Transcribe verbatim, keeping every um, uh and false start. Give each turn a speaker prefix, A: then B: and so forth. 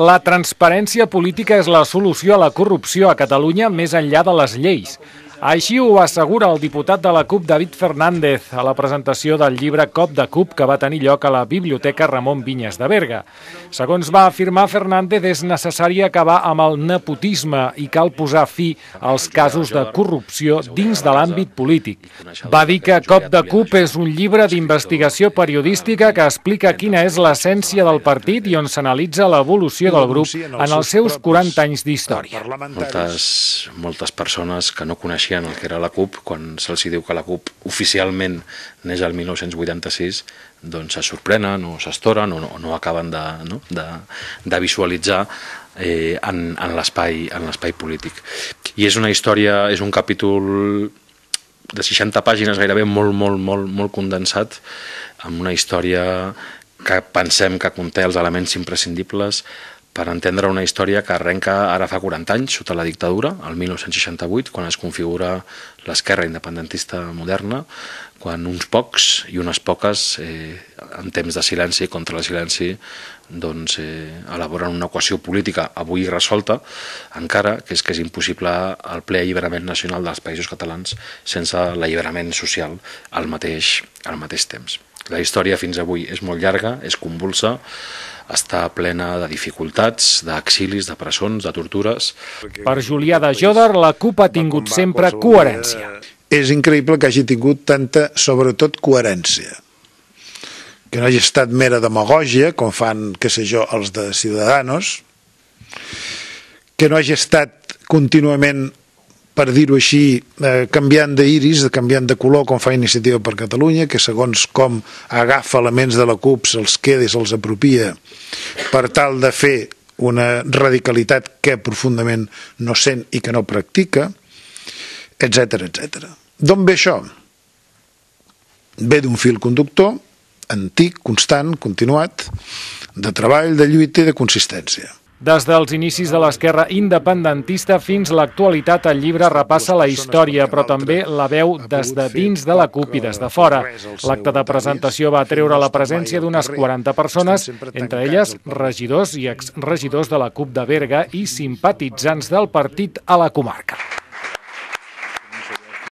A: La transparència política és la solució a la corrupció a Catalunya més enllà de les lleis. Així ho assegura el diputat de la CUP, David Fernández, a la presentació del llibre Cop de CUP que va tenir lloc a la Biblioteca Ramon Vinyes de Berga. Segons va afirmar Fernández, és necessari acabar amb el nepotisme i cal posar fi als casos de corrupció dins de l'àmbit polític. Va dir que Cop de CUP és un llibre d'investigació periodística que explica quina és l'essència del partit i on s'analitza l'evolució del grup en els seus quaranta anys d'història.
B: Moltes, moltes persones que no coneixien el que era la CUP, quan se'ls diu que la CUP oficialment neix el mil nou-cents vuitanta-sis, doncs se sorprenen o s'estoren o no, no acaben de, no? de, de visualitzar eh, en, en l'espai en l'espai polític. I és una història, és un capítol de seixanta pàgines, gairebé molt, molt, molt, molt condensat, amb una història que pensem que conté els elements imprescindibles per entendre una història que arrenca ara fa quaranta anys, sota la dictadura, el mil nou-cents seixanta-vuit, quan es configura l'esquerra independentista moderna, quan uns pocs i unes poques, eh, en temps de silenci, contra el silenci, doncs, eh, elaboren una equació política avui resolta, encara que és que és impossible el ple alliberament nacional dels països catalans sense l'alliberament social al mateix, al mateix temps. La història fins avui és molt llarga, és convulsa, està plena de dificultats, d'exilis, de presons, de tortures.
A: Per Julià de Jòdar, la CUP ha tingut sempre coherència.
C: És increïble que hagi tingut tanta, sobretot, coherència. Que no hagi estat mera demagògia, com fan, què sé jo, els de Ciudadanos, que no hagi estat contínuament, per dir-ho així, eh, canviant d'iris, canviant de color, com fa Iniciativa per Catalunya, que segons com agafa elements de la CUP, se'ls queda i se'ls apropia, per tal de fer una radicalitat que profundament no sent i que no practica, etcètera, etcètera. D'on ve això? Ve d'un fil conductor, antic, constant, continuat, de treball, de lluita i de consistència.
A: Des dels inicis de l'esquerra independentista fins a l'actualitat, el llibre repassa la història, però també la veu des de dins de la CUP i des de fora. L'acte de presentació va treure la presència d'unes quaranta persones, entre elles regidors i exregidors de la CUP de Berga i simpatitzants del partit a la comarca.